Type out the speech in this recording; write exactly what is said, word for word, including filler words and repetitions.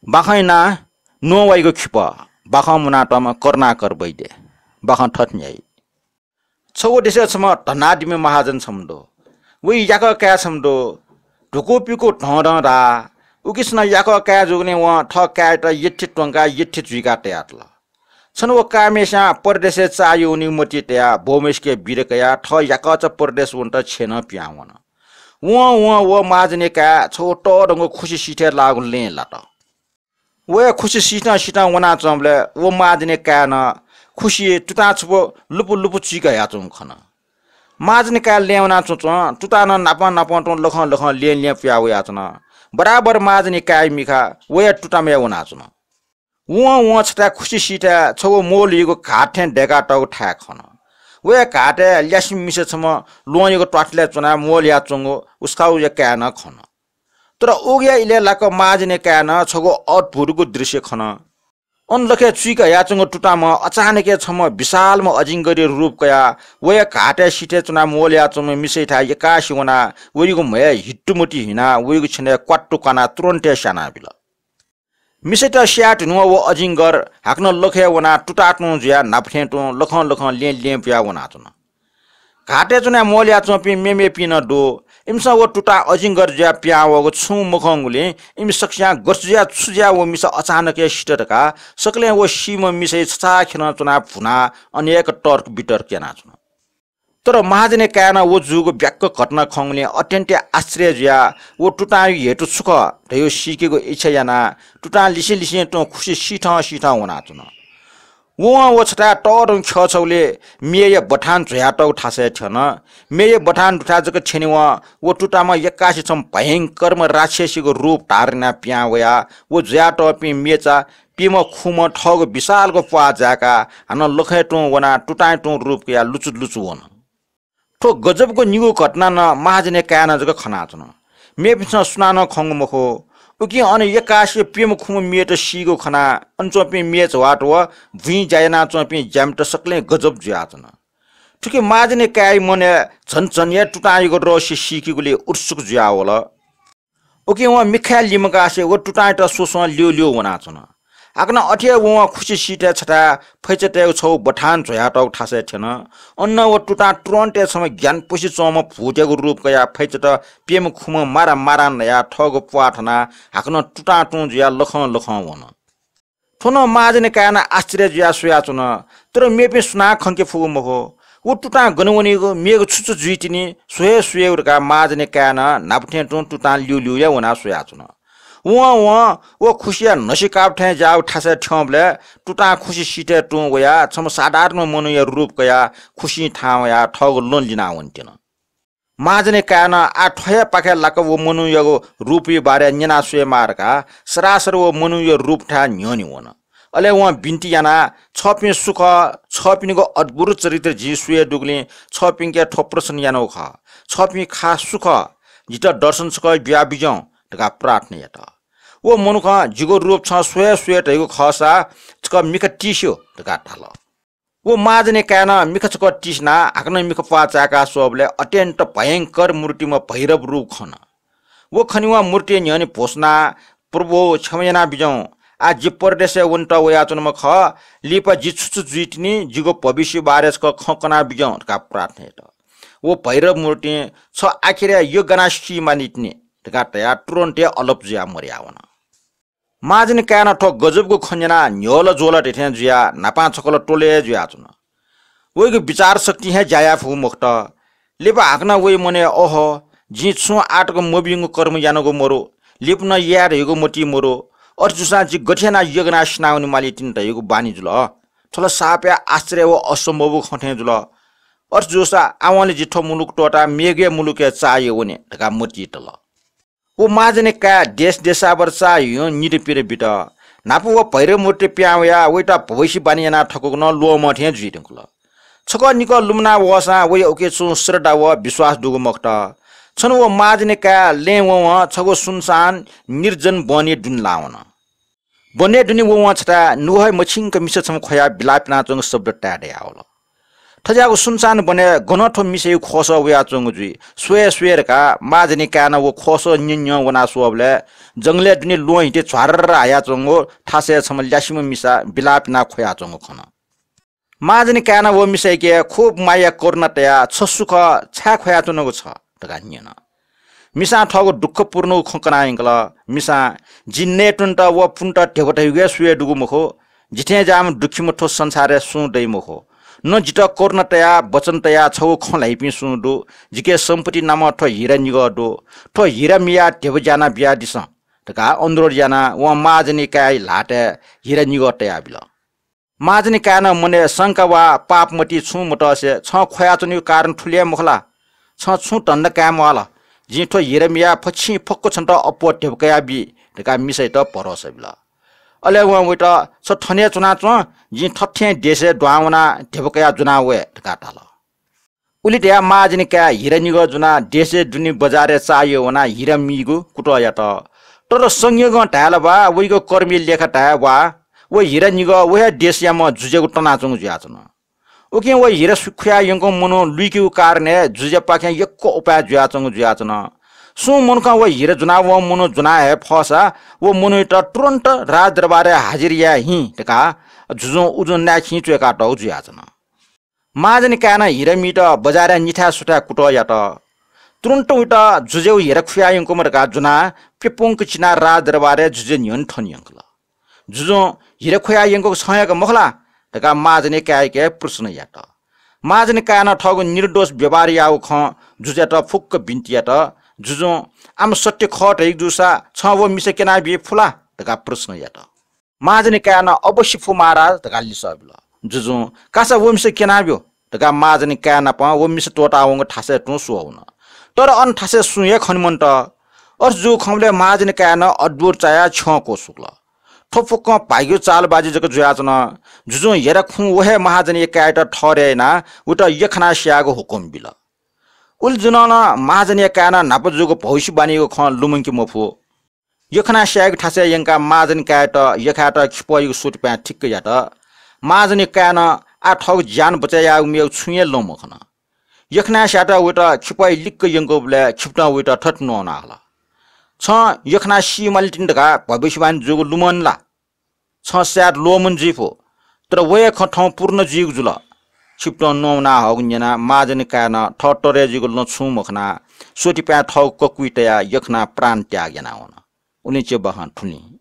बाखं यानाः नुहां वइगु खिपः, बाखं मुनातःम्ह करुणाकर वैद्य। बाखं थथे न्ह्याइ। छगू देशय् छम्ह धनाढ्यम्ह महाजन छम्ह दु। वइ याकः काय् छम्ह दु। धुकूपिकू धंधं धाः। उकिसनं याकः काय् जूगुलिं वं थः काय्‌यात यःथें त्वंकाः यःथें जुइकाः तयातल। छन्हु व काय्‌म्हेस्यां परदेशय् चाःहिउ वनीगु मतिइ तयाः बौम्हय्‌सिके बिदा कयाः थः याकःचा परदेश वनेत छेँनं पिहां वन। वं वं व महाजनया काय् छगू तःधंगु खुसि सिथय् लाःगु लँय् लात। वया खुसि सिथं सिथं वनाच्वंबलय् व महाजनया काय्‌नं खुसिइ तुतां छपु लुपु लुपु चुइके हयाच्वंगु खन। महाजनया काय् लँय् वनाच्वंच्वं तुतां नं नापं नापं तुं लखं लखं लँय् लँय् पुयाः वयाच्वन। बराबर महाजनया काय्‌या मिखा वया तुतामय् वनाच्वन। वं वं छथाय् खुसि सिथय् छगू मोलहीगु घात थें दय्‌कातःगु थाय् खन। वया घातय् ल्यासें मिसा छम्ह ल्वहंयागु त्वाथलय् च्वनाः मोलहियाच्वंगु उसकाउया काय् नं खन। तर उगुया इलय् लाक्क महाजनया काय्‌नं छगू अद्भुतगु दृश्य खन। अन लखय् चुइके हयाच्वंगु तुताम्ह अचानक हे छम्ह विशालम्ह अजिंगरया रूप कयाः वया घातय् सिथय् च्वनाः मोलहियाच्वंम्ह मिसायाथाय् यक्कासि वनाः वइगु म्हय् हित्तुमुति हिनाः वइगु छेनय् क्वात्तु क्वानाः तुरन्त हे स्यानाबिल। मिसायात स्याये धुनेवं व अजिंगर हाकनं लखय् वनाः तुताः तुं जुयाः न्हापा थें तुं लखं लखं लँय् लँय् पुयाः वनाच्वन। घातय् च्वनाः मोलहियाच्वंपिं मेमेपिं नं दु। इमिसं व तुताः अजिंगर जुयाः पिहां वःगु छुं मखंगुलिं इमि सकसियां गथे जुयाः छु जुयाः व मिसा अचानक हे सित धकाः सकलें व सीम्ह मिसाया छछाःखेलं च्वनाः भुनाः अनेक तर्क वितर्क यानाच्वन। तर महाजनया काय्‌नं व जूगु ब्याक्क घटना खंगुलिं अत्यन्त आश्चर्य जुयाः व तुतांया हेतु छु खः धयागु सीकेगु इच्छा यानाः तुतां लिसें लिसें तुं खुसि सिथं सिथं वनाच्वन। वं व छथाय् तःधंगु ख्यः छगुलिइ मेया बथान ज्वयातःगु थासय् थ्यन। मेया बथान दुथाय् जक थ्यनेवं व तुताम्ह यक्कासि छम्ह भयंकरम्ह राक्षसीगु रूप धारण यानाः पिहां वयाः व ज्वयातःपिं मेचा प्यम्ह खुम्ह थःगु विशालगु प्वाः जाय्‌काः हानं लखय् तुं वनाः तुतांया तुं रूप कयाः लुचु लुचु वन। थ्व गजबगु निगू घटना नं महाजनया काय्‌नं जक खनाच्वन। मेपिन्सं सुनानं खंगु मखु। उकिं अन यक्कासि प्यम्ह खुम्ह मेत सीगु खनाः अन च्वंपिं मेचात व भुइँ ज्या यानाच्वंपिं ज्यामित सकलें गजब जुयाच्वन। थुकी महाजनया काय्‌या मनय् झन झन हे तुतांयागु रहस्य सीकेगुलिइ उत्सुक जुयावल। उकिं वं मिखाय् लिमकासे व तुतांयात स्वस्वं ल्यूल्यू वनाच्वन। हाकनं अथे हे वं खुसि सिथय् छथाय् फैचा तयेगु छगू बथान ज्वयातःगु थासय् थ्यन। अन व तुतां तुरन्त हे छम्ह ग्यानापुसे च्वंम्ह भूतयागु रूप कयाः फैचात प्यम्ह खुम्ह मारा मारां नयाः थःगु प्वाः थनाः हाकनं तुतां तुं जुयाः लखं लखं वन। थ्व नं महाजनया काय्‌नं आश्चर्य जुयाः स्वयाच्वन। तर मेपिं सुनां खंके फुगु मखु। व तुतां गन वनीगु, मेगु छु छु जुइतिनि, स्व हे स्वयेगु धकाः महाजनया काय्‌नं न्हापा थें तुं तुतां ल्यूल्यू हे वनाः स्वयाच्वन। वं वं व खुसिया न्हसिकाप थें ज्याःगु थासय् थ्यंबलय् तुतां खुसि सिथय् तुं वयाः छम्ह साधारण मनूया रूप कयाः खुसिं थाहां वयाः थःगु लं लिनाः वनेत्यन। महाजनया काय्‌नं आः थ्व हे पाखे लाक्क व मनूयागु रूपया बारे न्यना स्वयेमाः धकाः सरासर व मनूया रूपथाय् न्ह्यःने वन। अले वं बिन्ति यानाः, "छःपिं सु खः? छःपिनिगु अद्भुत चरित्र जिं स्वये दुगुलिं छःपिन्के थ्व प्रश्न यानागु खः। छःपिं खास सु खः? जितः दर्शन छकः बियाबिज्याहुँ" धकाः प्रार्थना यात। व मनुखं, "जिगु रूप छं स्व हे स्व" धयागु खःसा छकः मिखा तिस्यु धकाः धाल। व महाजनया काय्‌नं मिखा छकः तिसिनाः हाकनं मिखा प्वाः चाय्‌का स्वःबलय् अत्यन्त भयंकर मूर्तिम्ह भैरव रूप खन। व खनेवं मूर्तिया न्ह्यःने भ्वसुनाः, "प्रभु, क्षमा यानाबिज्याहुँ। आः जि परदेशय् वनेत वयाच्वनाम्ह खः। लिपा जि छु छु जुइतिनि, जिगु भविष्य बारे छकः खँ कनाबिज्याहुँ" धकाः प्रार्थना यात। व भैरव मूर्तिं, "छ आखिरय् यः गनाः सी मानितिनि" धकाः धयाः तुरन्त हे अलप जुयाः मदयावन। महाजनया काय्‌नं थ्व गजबगु खँ न्यनाः न्ह्यःला ज्वःला धइथें जुयाः न्हापां छकलं त्वलय् जुयाच्वन। वइगु विचार शक्तिं हे ज्या याये फुगु मखुत। लिपा हाकनं वइ मनय्, "ओहो, जिं छुं आःतक मभिंगु कर्म यानागु मरु, लिपा नं याये धइगु मतिइ मरु। अथे जूसां जि गथे यानाः यः गनाः सिनावने मालीतिनि धइगु बानी जुल। थ्व ला साप हे आश्चर्य व असम्भवगु खँ थें जुल। अथे जूसा आवंलि जि थ्व मुलुक त्वःताः मेगु हे मुलुकय् चाःहिउ वने" धकाः मतिइ तल। व महाजनया काय् देश देशावर चाःहिउं निदँपिदँ बित। न्हापा व भैरव मूर्ति पिहां वयाः वइत भविष्यवाणी याना थकूगु नं ल्वःमं थें जुइ धुंकल। छकः निकः लुमना वःसां वया उकी छुं श्रद्धा व विश्वास दुगु मखुत। छन्हु व महाजनया काय् लँय् वंवं छगू सुनसान निर्जन वनय् दुने लाः वन। वनय् दुने वंवं छथाय् नुगः हे मछिंक मिसा छम्ह ख्वयाः बिलाप यानाच्वंगु शब्द ताये दयावल। थज्याःगु सुनसान वनय् गनं थ्व मिसाया ख्वःसः वयाच्वंगु जुइ, स्वये स्वये धकाः महाजनी काय्‌नं व ख्वःसः न्यं न्यं वना स्वःबलय् जंगलय् दुने ल्वहं हिते झ्वार्र हायाच्वंगु थासय् छम्ह ल्यासेम्ह मिसा बिलाप यानाः ख्वयाच्वंगु खन। महाजनी काय्‌नं व मिसायाके खुब माया करुणा तयाः छ सु खः, छाय् ख्वयाच्वनागु छ धकाः न्यन। मिसां थःगु दुःखपूर्ण खँ कनाः यंकल। मिसां, जि नयेत्वनेत व पुन्त ध्यबा धइगु हे स्वये दुगु मखु। जिथें ज्याःम्ह दुःखीम्ह थ्व संसारय् सुं दइ मखु। न जितः करुणा तयाः वचन तयाः छगू खँ ल्हाइपिं सुं दु। जिके सम्पत्ति नामं थ्व हिरा निगः दु। थ्व हिरा मियाः ध्यबा ज्याना बियादिसँ धकाः अनुरोध यानाः वं महाजनी काय्‌या ल्हातय् हिरा निगः तयाबिल। महाजनी काय्‌नं मनय् शंका वा पाप मति छुं मतसे छं ख्वयाच्वनीगु कारण थुलि हे मखु ला? छं छुं धन्दा काये म्वाःल। जिं थ्व हिरा मियाः फच्छिं फक्व छन्त अप्वः ध्यबा कयाबी धकाः मिसायात भरोसा बिल। अले वं वइत छ थन हे च्वनाच्वँ, जिं थथें देशय् दुहां वनाः ध्यबा कयाः ज्वना वये धकाः धाल। उलि धयाः महाजनी काय् हिरा निगः ज्वनाः देशय् दुने बजारय् चाःह्यः वनाः हिरा मीगु कुतः यात। तर संयोगं धायेला वा, वइगु कर्मया लेखा धाये वा, व हिरा निगः व हे देशयाम्ह जुजुयागु तनाच्वंगु जुयाच्वन। उकिं व हिरा सु-, खुयाः यंकूम्ह मनू लुइकेगु कारणय् जुजुयापाखें यक्व उपाय जुयाच्वंगु जुयाच्वन। सुं मनुखं व हिरा ज्वनावंम्ह मनू ज्वना हये फःसा व मनूयात तुरुन्त राजदरबारय् हाजिर याये हिँ धकाः जुजुं उजुं नाय्‌खिं च्वय्‌कातःगु जुयाच्वन। महाजनी काय्‌नं हिरा मीत बजारय् निथाय् सुथाय् कुतः यात। तुरुन्त वइत जुजुयागु हिरा खुयाः यंकूम्ह धकाः ज्वनाः प्यपुंक चिनाः राजदरबारय् जुजुया न्ह्यःने थन यंकल। जुजुं हिरा खुयाः यंकूगु छं हे का मखु ला धकाः महाजनी काय्‌याके प्रश्न यात। महाजनी काय्‌नं थःगु निर्दोष व्यवहार याःगु खँ जुजुयात फुक्क बिन्ति यात। जुजुं आम सत्य खः धइगु जूसा छं व मिसा क्यनाबी फु ला धकाः प्रश्न यात। महाजनी काय्‌नं अवश्य फु महाराज धकाः लिसः बिल। जुजुं कासा व मिसा क्यनाब्यु धकाः महाजनी काय् नाप व मिसा त्वःतावंगु थासय् तुं स्वः वन। तर अन थासय् सुं हे खने मन्त। अथे जूगु खंबलय् महाजनी काय्‌नं अद्भुत चायाः छ्यं क्वसुकल। थ्व फुक्कं भाग्यया चालबाजी जक जुयाच्वन। जुजुं हिरा खुं व हे महाजनीया काय्‌यात ठहरय् यानाः वइत यख्खानाः स्यायेगु हुकुम बिल। उलि जुनं नं महाजनीया काय्‌नं न्हापा जूगु भविष्यवाणीयागु खँ लुमंके मफु। यख्खानाः स्यायेगु थासय् यंकाः महाजनी काय्‌यात यख्खायात खिपःयागु सोतिपाँय् ठिक्क यात। महाजनी काय्‌नं आः थःगु ज्यान बचय् यायेगु मेगु छुं हे लं मखन। यख्खानाः स्यायेत वइत खिपःया लिक्क यंकूबलय् खिपतं वइत थथे न्ववाना हल, छं यख्खानाः सी माली तिनि धकाः भविष्यवाणी जूगु लुमन ला? छं स्यायेत ल्वःमन जुइ फु, तर व हे खँ थौं पूर्ण जुइगु जुल। खिपतं न्ववाना हःगु न्यनाः महाजनी काय्‌नं थः तरय् जुइगु लं छुं मखनाः सोतिपाँय् थःगु ककुइ तयाः यख्खानाः प्राण त्याग याना वन। उलिं च्यब्वाखं थुलिं।